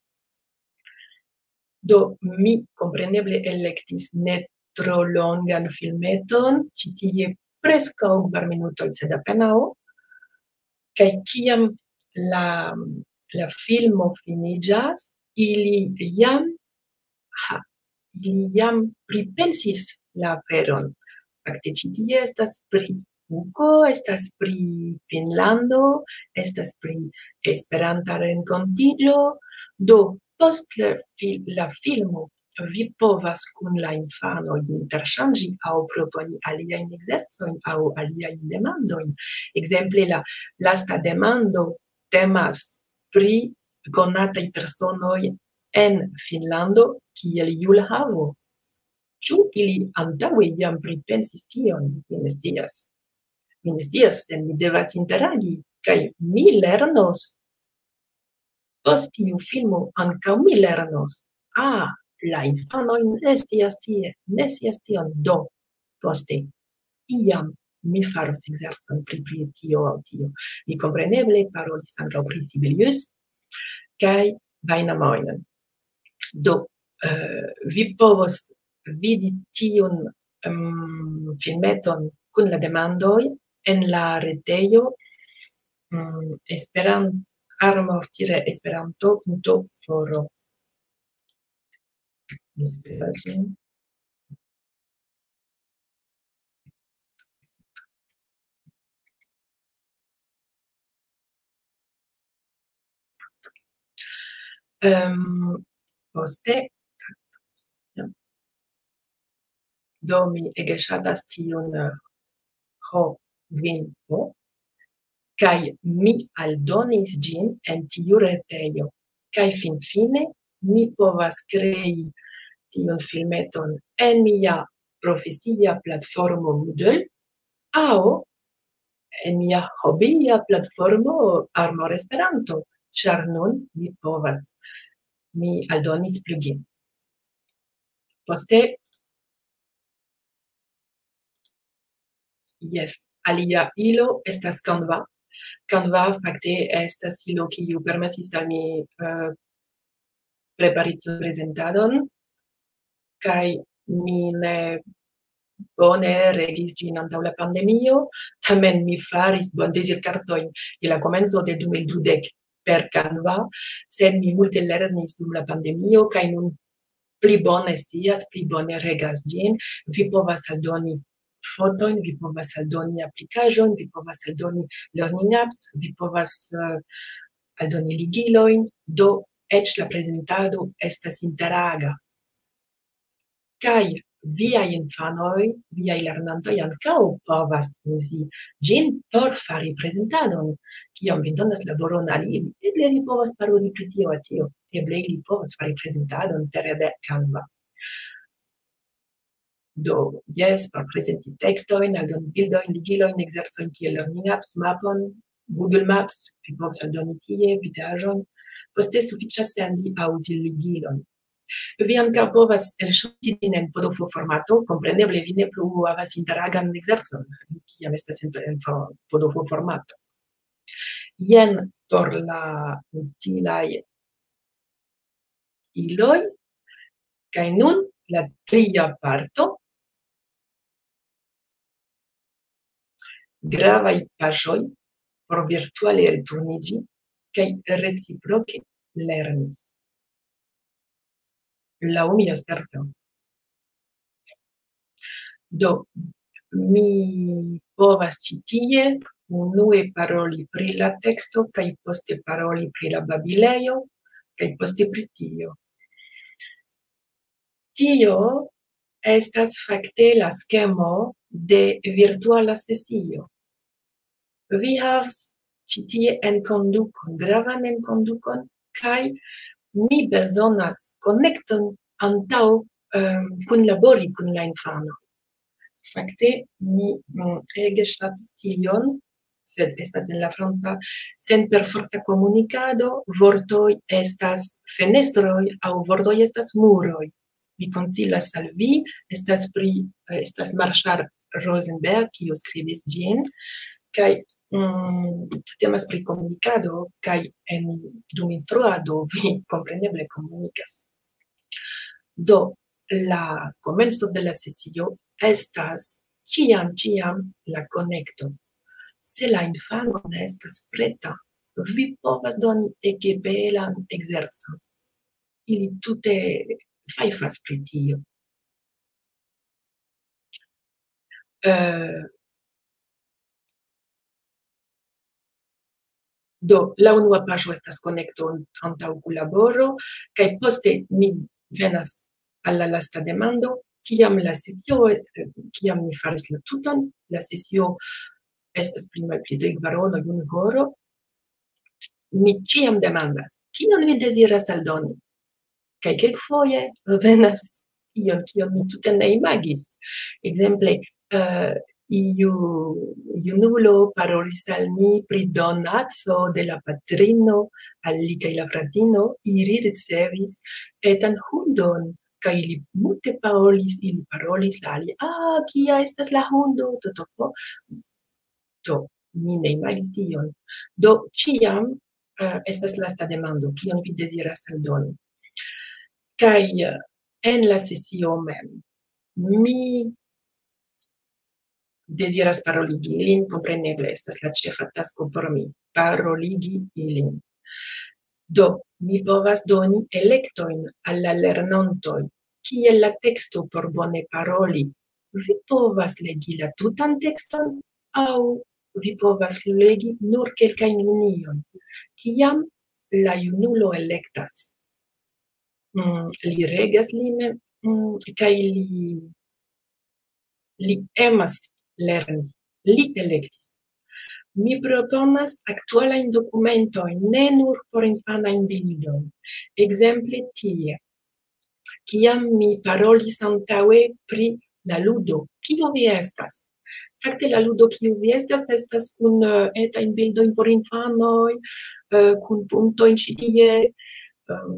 Do, mi kompreneble elektis ne tro longan filmeton, ĉi tie preskaŭ kvar minutoj, sed apenaŭ. Kaj kiam la, la filmo finiĝas, ili jam, ha, ili jam pripensis la aferon. Fakte, ĉi tie estas pri Kuko, estas pri Finnlando, estas pri Esperanta renkontiĝo. Do, post la fil-, la filmo, vi povas kun la infanoj interŝanĝi aŭ proponi aliajn ekzercojn aŭ aliajn demandojn. Ekzemple, la lasta demando temas pri konataj personoj en Finnlando kiel julhavo. Ĉu ili antaŭe jam pripensis tion? Mi ne scias. Mi ne scias, sed mi devas interagi, kaj mi lernos. Post tiu filmo ankaŭ mi lernos. Ah, la infanoj ne scias tie, ne scias tion. Do, poste, iam mi faros ekzercon pri, pri tio aŭ tio. Mi kompreneble parolis ankaŭ pri Sibelius kaj Vainamoinen. Do, eh, vi povos vidi tiun, em, filmeton kun la demandoj en la retejo, mm, Esperan-, armor-esperanto.foro. Em, poste, do mi ege ŝatas tiun, eh, ho, vin, ho, kaj mi aldonis ĝin en tiu retejo. Kaj finfine mi povas krei tiun filmeton en mia profesia platformo Moodle aŭ en mia hobia platformo Armor Esperanto, ĉar nun mi povas, mi aldonis plugin. Poste, jes, alia ilo estas Canva. Canva fakte estas ilo, kiu permesis al mi, eh, prepari tiun prezentadon, kaj mi ne bone regis ĝin antaŭ la pandemio, tamen mi faris bondezirkartojn je la komenco de du mil dudek per Canva, sed mi multe lernis dum la pandemio, kaj nun pli bone scias, pli bone regas ĝin. Vi povas aldoni fotojn, vi povas aldoni aplikaĵojn, vi povas aldoni learning apps, vi povas, eh, aldoni ligilojn, do eĉ la prezentado estas interaga. Kaj viaj infanoj, viaj lernantoj ankaŭ povas uzi ĝin por fari prezentadon. Kiam vi donas laboron al ili, eble ili povas paroli pri tio aŭ tio, eble ili povas fari prezentadon pere de Canva. Do, jes, por prezenti tekstojn, aldoni bildojn, ligilojn, ekzercojn kiel learning apps, mapon, Google Maps, vi povas aldoni tie, videaĵon. Poste sufiĉas sendi aŭ uzi ligilon. Vi ankaŭ povas elŝuti ĝin en P D F formato, kompreneble vi ne plu havas interagan ekzercon, kiam estas en, en fo-, P D F formato. Jen por la utilaj iloj. Kaj nun la tria parto. Gravaj paŝoj por virtuale returniĝi kaj reciproke lerni. Laŭ mia sperto. Do, mi povas ĉi tie unue paroli pri la teksto, kaj poste paroli pri la babilejo, kaj poste pri tio. Tio estas fakte la skemo de virtuala sesio. Vi havas ĉi tie enkondukon, gravan enkondukon, kaj mi bezonas konekton antaŭ, em, kunlabori kun la infano. Fakte, mi, mm, ege ŝatas tion, sed estas en la franca, sen perforta komunikado, vortoj estas fenestroj aŭ vortoj estas muroj. Mi konsilas al vi, estas pri, estas Marshall Rosenberg, kiu skribis ĝin, kaj, mm, temas pri komunikado, kaj en, dum instruado vi kompreneble komunikas. Do, la komenco de la sesio estas ĉiam, ĉiam la konekto. Se la infano ne estas preta, vi povas doni ege belan ekzercon. Ili tute fajfas pri tio. Eh, do, la unua paŝo estas konekto antaŭ kunlaboro, kaj poste mi venas al la lasta demando, kiam la sesio, eh, kiam ni faris la tuton, la sesio estas pli malpli tri kvaronoj, unu horo, mi ĉiam demandas, "Kion vi deziras aldoni?" Kaj kelkfoje venas ion, kion mi tute ne imagis. Ekzemple, eh, iu junulo parolis al ni pri donaco de la patrino al li kaj la fratino, ili ricevis etan hundon, kaj ili multe parolis, ili parolis la alia, "Ah, kia estas la hundo?" Do, do, do. Do, mi ne imagis tion. Do, ĉiam, eh, estas lasta demando, "Kion vi deziras aldoni?" Kaj, eh, en la sesio mem, mi deziras paroligi ilin, kompreneble estas la ĉefa tasko por mi, paroligi ilin. Do, mi povas doni elektojn al la lernantoj, kiel la teksto por bone paroli. Vi povas legi la tutan tekston, aŭ vi povas legi nur kelkajn liniojn. Kiam la junulo elektas, mm, li regas li mem, mm, kaj li, li emas lerni. Li elektis. Mi proponas aktualajn dokumentojn, ne nur por infanajn bildojn. Ekzemple tie, kiam mi parolis antaŭe pri la ludo, "Kio vi estas?" Fakte, la ludo, "Kio vi estas?", estas kun, eh, etajn bildojn por infanoj, eh, kun puntojn ĉi tie, eh,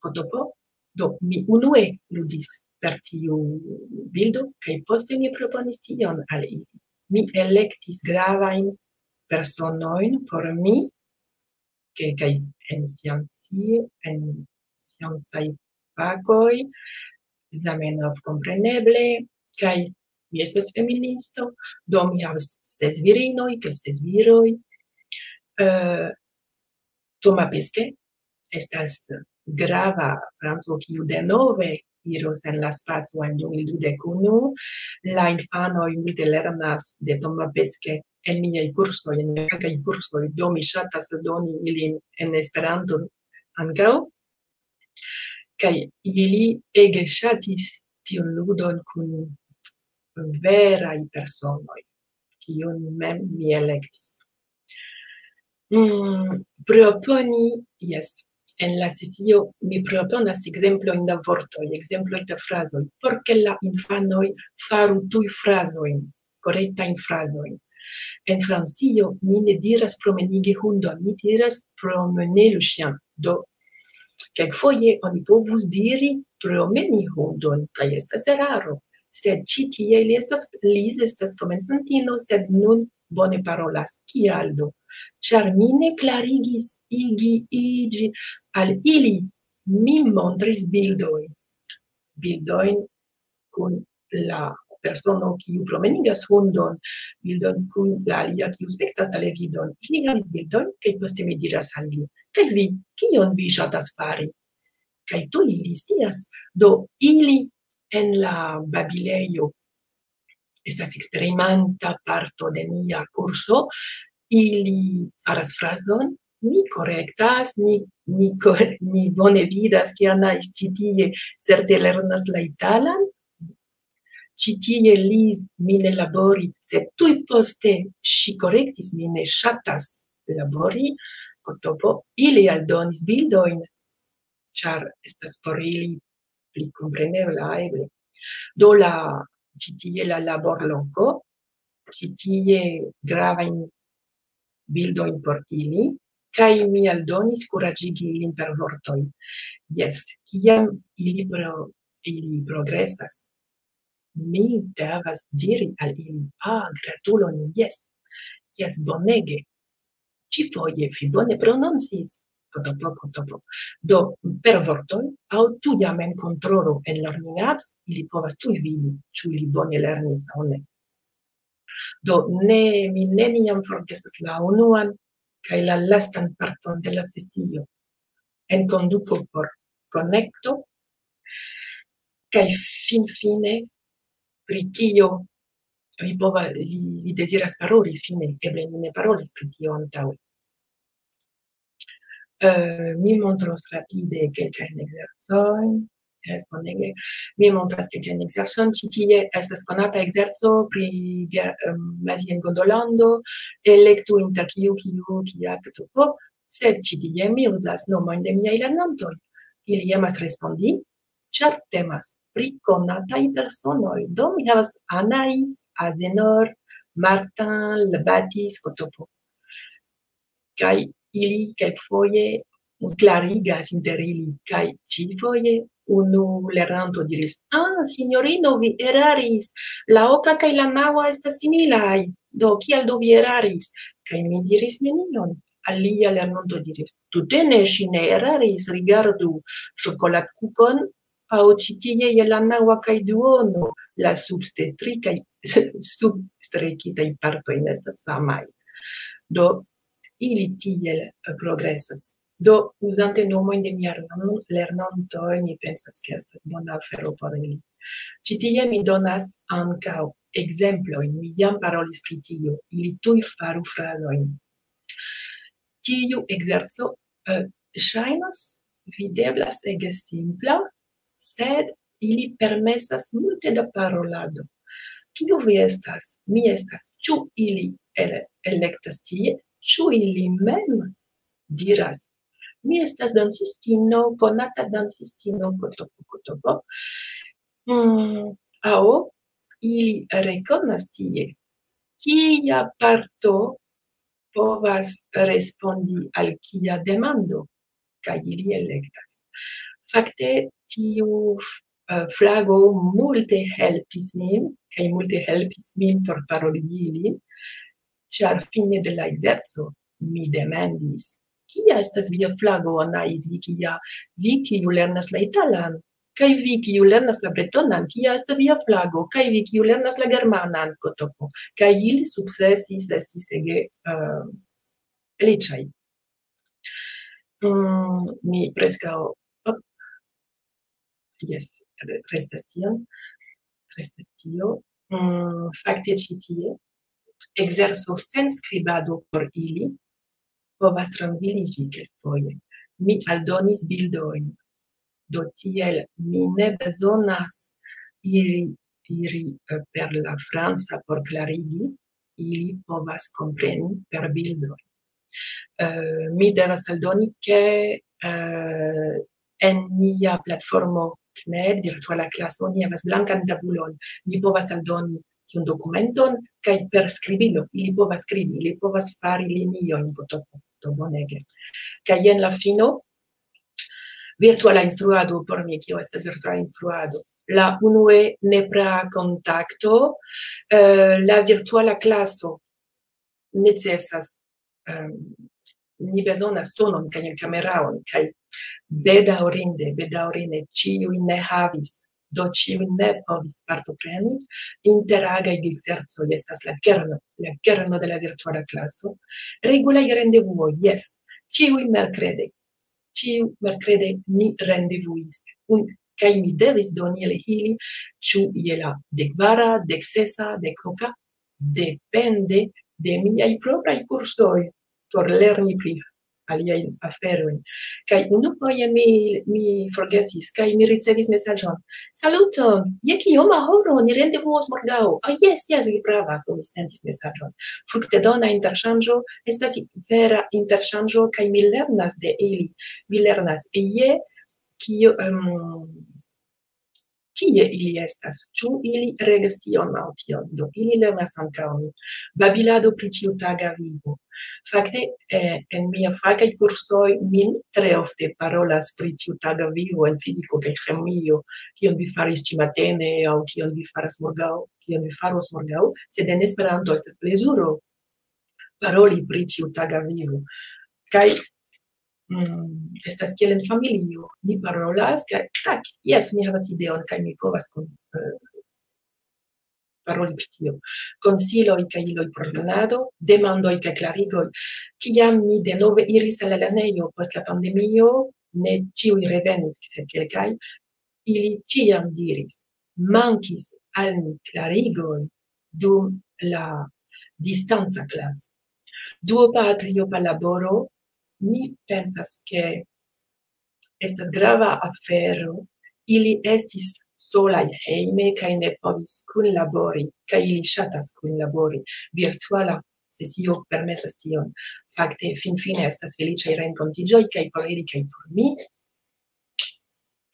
kotopo. Do, mi unue ludis per tiu bildo, kaj poste mi proponis tion al ili. Mi elektis gravajn personojn por mi, kelkaj en sciencij-, en sciencaj fakoj, Zamenhof kompreneble, kaj mi estas feministo, do mi havas ses virinoj kaj ses viroj. Eh, Thomas Pesquet estas grava franco, kiu denove iros en la spaco en du mil dudek unu. La infanoj multe lernas de Thomas Pesquet en miaj kursoj, en miaj francaj kursoj, do mi ŝatas doni ilin en Esperanto ankaŭ. Kaj ili ege ŝatis tiun ludon kun veraj personoj, kiun mem mi elektis. Mm, proponi, jes, en la sesio mi proponas ekzemplojn da vortoj, ekzemploj da frazoj, por ke la infanoj faru tuj frazojn, korektajn frazojn. En Francio mi ne diras "promenigi hundon", mi diras "promener le chien". Do, kelkfoje oni povus diri "promeni hundon", kaj estas eraro. Sed ĉi tie li estas, Liz estas komencantino, sed nun bone parolas. Kial do? Ĉar mi ne klarigis igi, iĝi al ili, mi montris bildojn. Bildojn kun la persono, kiu promenigas hundon, bildojn kun la alia, kiu spektas televidon. Ili havis bildojn, kaj poste mi diras al li, Kaj vi, kion vi ŝatas fari? Kaj tuj ili scias. Do ili en la babilejo estas eksperimenta parto de nia kurso, ili faras frazon, ni korektas, ni, ni, ko- ni bone vidas, ke Anais ĉi tie certe lernas la italan, ĉi tie li mi ne labori, sed tuj poste ŝi korektis, mi ne ŝatas labori, kotopo, ili aldonis bildojn, ĉar estas por ili pli komprenebla eble. Do la, ĉi tie la laborloko, ĉi tie gravajn bildojn por ili, kaj mi aldonis kuraĝigi ilin per vortoj. Jes, kiam ili, pro, ili progresas, mi devas diri al ili, ah, gratulon, jes, jes, bonege, ĉifoje vi bone prononcis, kotopo, kotopo. Do, per vortoj, aŭ tuja memkontrolo en Learning Apps, ili povas tuj vidi, ĉu ili bone lernis aŭ ne. Do, ne, mi neniam forgesas la unuan kaj la lastan parton de la sesio. En konduko por konekto, kaj finfine pri kio vi pova, vi, vi deziras paroli, fine, eble ni ne parolis pri tio antaŭe. Eh, mi montros rapide kelkajn ekzercojn. Jes, bonege. Mi montras kelkajn ekzercojn. Ĉi tie estas konata ekzerco pri ge- em, Maziengondolando. Elektu inter kiu, kiu, kia, ktopo. Sed ĉi tie mi uzas nomojn de miaj lernantoj. Ili emas respondi, ĉar temas pri konataj personoj. Do mi havas Anais, Azenor, Martin, Labatis, Kotopo. Kaj ili kelkfoje klarigas inter ili, kaj ĉifoje unu lernanto diris: "Ah, sinjorino, vi eraris, la oka kaj la naŭa estas similaj, do kial do vi eraris?" Kaj mi diris nenion. Alia lernanto diris: "Tute ne, ŝi ne eraris, rigardu, ŝokolatkukon, aŭ ĉi tie je la naŭa kaj duono, la substre tri kaj substrekitaj partoj ne estas samaj." Do, ili tiel, eh, progresas. Do, uzante nomojn de mia lernon-, lernantoj, mi pensas, ke estas bona afero por ili. Ĉi tie mi donas ankaŭ ekzemplojn. Mi jam parolis pri tio. Ili tuj faru frazojn. Tiu ekzerco, eh, ŝajnas, videblas ege simpla, sed ili permesas multe da parolado. "Kiu vi estas?" "Mi estas." "Ĉu?" Ili ele-, elektas tie. "Ĉu?" Ili mem diras: "Mi estas dancistino, konata dancistino, kotopo, kotopo." Mm, aŭ ili rekonas tie, kia parto povas respondi al kia demando, kaj ili elektas. Fakte, tiu, eh, flago multe helpis min, kaj multe helpis min por paroli ilin, ĉar fine de la ekzerco mi demandis: "Kia estas via flago, Anais, vi kia, vi kiu lernas la italan? Kaj vi kiu lernas la bretonan, kia estas via flago? Kaj vi kiu lernas la germanan?" Kotopo. Kaj ili sukcesis, estis ege, eh, feliĉaj. Mm, mi preskaŭ, op. Jes, re-, restas tion. Restas tio. Mm, fakte ĉi tie, ekzerco sen skribado por ili povas trankviliĝi kelkfoje. Mi aldonis bildojn. Do tiel mi ne bezonas iri, iri, eh, per la franca por klarigi, ili povas kompreni per bildoj. Eh, mi devas aldoni, ke, eh, en nia platformo knet, virtuala klaso, ni havas blankan tabulon. Mi povas aldoni tiun dokumenton, kaj per skribilo ili povas skribi, ili povas fari liniojn, kotopo, do bonege. Kaj jen la fino, virtuala instruado por mi, kio estas virtuala instruado. La unue nepra kontakto, eh, la virtuala klaso necesas, em, ni bezonas tonon kaj kameraon, kaj bedaŭrinde, bedaŭrinde ĉiuj ne havis, do ĉiuj ne povis partopreni. Interagaj ekzercoj estas la kerno, la kerno de la virtuala klaso. Regulaj rendevuoj, jes, ĉiuj merkrede. Ĉiu merkrede ni rendevuis. Un, kaj mi devis doni al ili, ĉu je la dek kvara, dek sesa, dek oka, depende de miaj propraj kursoj por lerni pri aliajn aferojn. Kaj unufoje mi, mi forgesis, kaj mi ricevis mesaĝon: "Saluton, je kioma horo ni rendevuos morgaŭ?" "Ah, jes, jes, vi pravas," do mi sentis mesaĝon. Fruktedona interŝanĝo estas vera interŝanĝo, kaj mi lernas de ili. Mi lernas je kio, em, kie ili estas, ĉu ili regas tion aŭ tion. Do ili lernas ankaŭ mi. Babilado pri ĉiutaga vivo. Fakte, eh, en mia fakaj kursoj min tre ofte parolas pri ĉiutaga vivo en fiziko kaj ĥemio, kion vi faris ĉi matene aŭ kion vi faras morgaŭ, kion vi faros morgaŭ, sed en Esperanto estas plezuro paroli pri ĉiutaga vivo. Kaj, mm, estas kiel en familio, ni parolas, kaj tak, jes, mi havas ideon, kaj mi povas kun, eh, paroli pri tio. Konsiloj kaj iloj por lernado, demandoj kaj klarigoj. Kiam mi denove iris al la lernejo post la pandemio, ne ĉiuj revenis, sed kelkaj, ili ĉiam diris: "Mankis al ni klarigoj dum la distanca klaso." Duopa triopa laboro, mi pensas, ke estas grava afero. Ili estis solaj hejme kaj ne povis kunlabori, kaj ili ŝatas kunlabori. Virtuala sesio permesas tion. Fakte, finfine estas feliĉaj renkontiĝoj, kaj por ili, kaj por mi.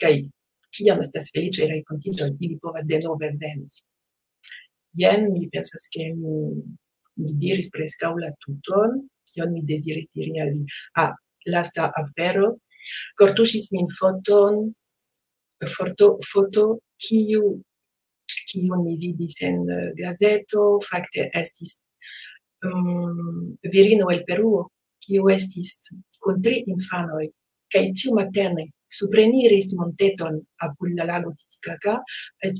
Kaj kiam estas feliĉaj renkontiĝoj, ili povas denove veni. Jen, mi pensas, ke mi, mi diris preskaŭ la tuton, kion mi deziris diri al vi. Ah, lasta afero. Kortuŝis min foton, foto, foto, kiu, kiun mi vidis en, eh, gazeto, fakte estis, mm, virino el Peruo, kiu estis kun tri infanoj, kaj ĉiumatene supreniris monteton apud la lago Titicaca, eh,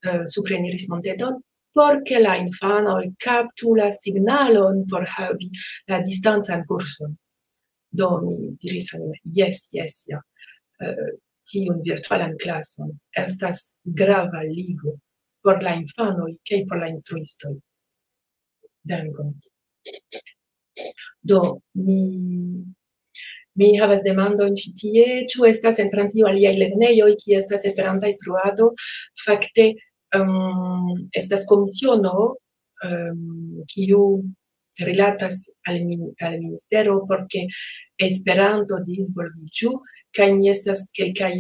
eh, supreniris monteton, por ke la infanoj kaptu la signalon por havi la distancan kurson. Do mi diris al mi: "Jes, jes, ja, eh, tiun virtualan klason estas grava ligo por la infanoj kaj por la instruistoj." Dankon. Do, mi, mi havas demandon ĉi tie, ĉu estas en Francio aliaj lernejoj, kie estas Esperanta instruado? Fakte, em, estas komisiono, em, kiu rilatas al min-, al ministero, por ke Esperanto disvolviĝu, kaj ni estas kelkaj,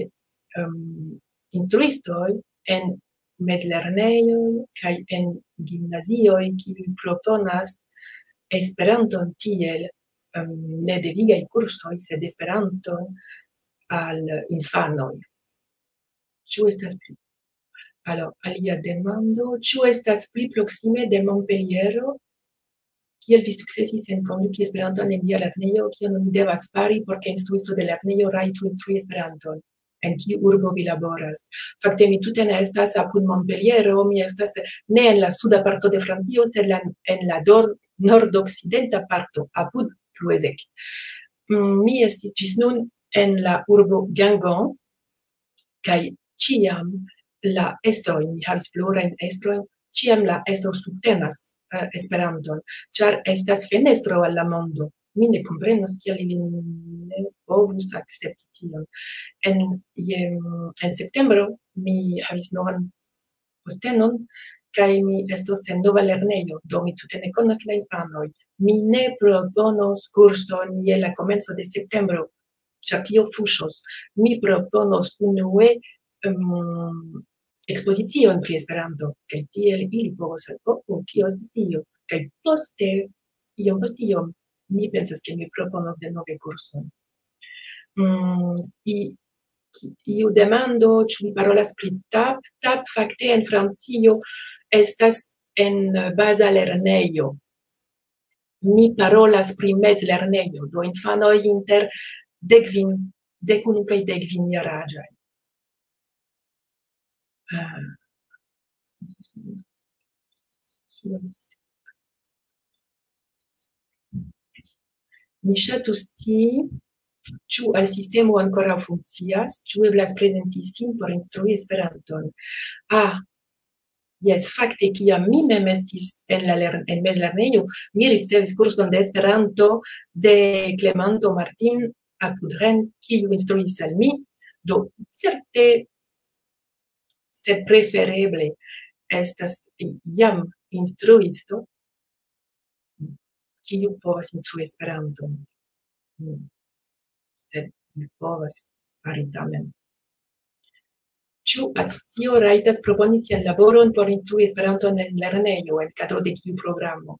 em, instruistoj en mezlernejoj kaj en gimnazioj, kiuj proponas Esperanton tiel, em, ne devigaj kursoj, sed Esperanton al infanoj. Ĉu estas pli? Alors, alia demando, ĉu estas pli proksime de Montpelliero? Kiel vi sukcesis enkonduki Esperanton en via lernejo? Kion oni devas fari por ke instruisto de lernejo rajtu instrui Esperanton? En kiu urbo vi laboras? Fakte, mi tute ne estas apud Montpelliero, mi estas ne en la suda parto de Francio, sed la, en la dor-, nordokcidenta parto, apud Plouézec. Mm, mi estis ĝis nun en la urbo Guingamp, kaj ĉiam la estroj, mi havis plurajn estrojn, ĉiam la estro subtenas, eh, Esperanton, ĉar estas fenestro al la mondo. Mi ne komprenas, kial ili ne povus akcepti tion. En, je, en septembro mi havis novan postenon, kaj mi estos en nova lernejo, do mi tute ne konas la infanoj. Mi ne proponos kurson je la komenco de septembro, ĉar tio fuŝos. Mi proponos unue, em, ekspozicion pri Esperanto, kaj tiel ili povos, "Oh, oh, kio estas tio?" Kaj poste, iom post iom, mi pensas, ke mi proponos denove kurson. Mm, i-, iu demando, ĉu mi parolas pri tap? Tap fakte en Francio estas en baza lernejo. Mi parolas pri mezlernejo, do infanoj inter dek kvin, dek unu kaj dek kvin jaraĝaj. Ah. Mi ŝatus scii, ĉu al sistemo ankoraŭ funkcias, ĉu eblas prezenti sin por instrui Esperanton. Ah, jes, fakte, kiam mi mem estis en la lern-, en mezlernejo, mi ricevis kurson de Esperanto de Clemanto Martin apud Rennes, kiu instruis al mi. Do, certe, sed prefereble estas jam instruisto, kiu povas instrui Esperanton. Mm. Sed mi povas fari tamen. Ĉu asocio rajtas proponi sian laboron por instrui Esperanton en lernejo, en kadro de kiu programo?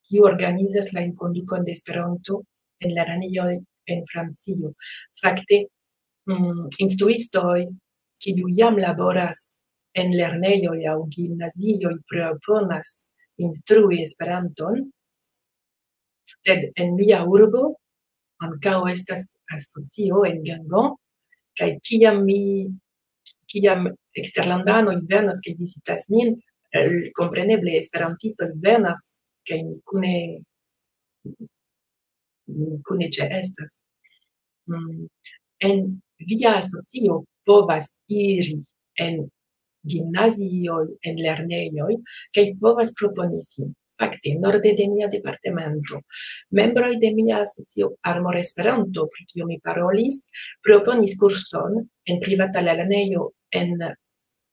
Kiu organizas la enkondukon de Esperanto en lernejoj en Francio? Fakte, mm, instruistoj, kiu jam laboras en lernejoj aŭ gimnazioj, proponas instrui Esperanton, sed en mia urbo ankaŭ estas asocio en Gangon, kaj kiam mi, kiam eksterlandanoj venas kaj vizitas nin, eh, kompreneble esperantistoj venas kaj ni kune, ni kune ĉeestas. Mm, en via asocio povas iri en gimnazioj, en lernejoj, kaj povas proponi sin. Fakte, norde de mia departemento, membroj de mia asocio Armor Esperanto, pri kio mi parolis, proponis kurson en privata lernejo en,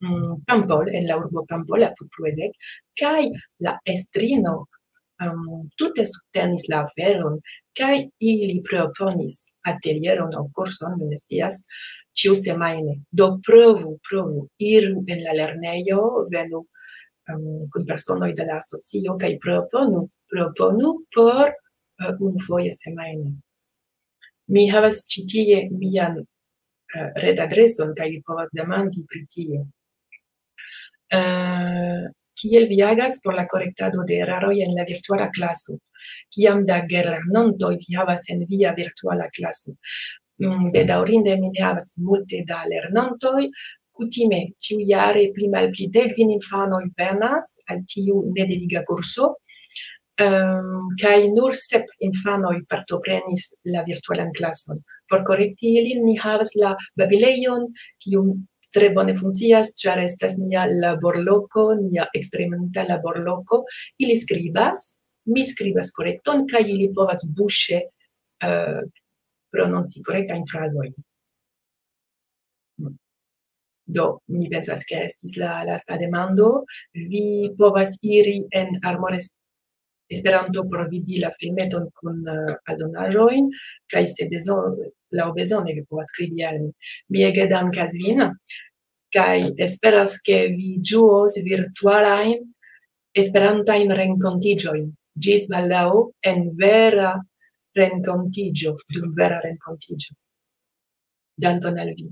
mm, Pampol, en la urbo Pampol, apud Plouézec, kaj la estrino, em, tute subtenis la aferon, kaj ili proponis atelieron aŭ kurson, mi ne scias, ĉiusemajne. Do provu, provu, iru en la lernejo, venu, em, kun personoj de la asocio kaj proponu, proponu por, eh, unufoje semajne. Mi havas ĉi tie mian, eh, retadreson, kaj vi povas demandi pri tio. Eh, kiel vi agas por la korektado de eraroj en la virtuala klaso? Kiam da gelernantoj vi havas en via virtuala klaso? Mm, bedaŭrinde mi ne havas multe da lernantoj. Kutime, ĉiujare pli malpli dek kvin infanoj venas al tiu nedeviga kurso, em, kaj nur sep infanoj partoprenis la virtualan klason. Por korekti ilin, ni havas la babilejon, kiu tre bone funkcias, ĉar estas nia laborloko, nia eksperimenta laborloko. Ili skribas, mi skribas korekton, kaj ili povas buŝe, eh, prononci korektajn frazojn. Do, mi pensas, ke estis la lasta demando. Vi povas iri en Armor Es-, Esperanto por vidi la filmeton kun, eh, aldonaĵojn, kaj se bezon-, laŭbezone vi povas skribi al mi. Mi ege dankas vin, kaj esperas, ke vi ĝuos virtualajn Esperantajn renkontiĝojn. Ĝis baldaŭ en vera renkontiĝo, dum vera renkontiĝo. Dankon al vi.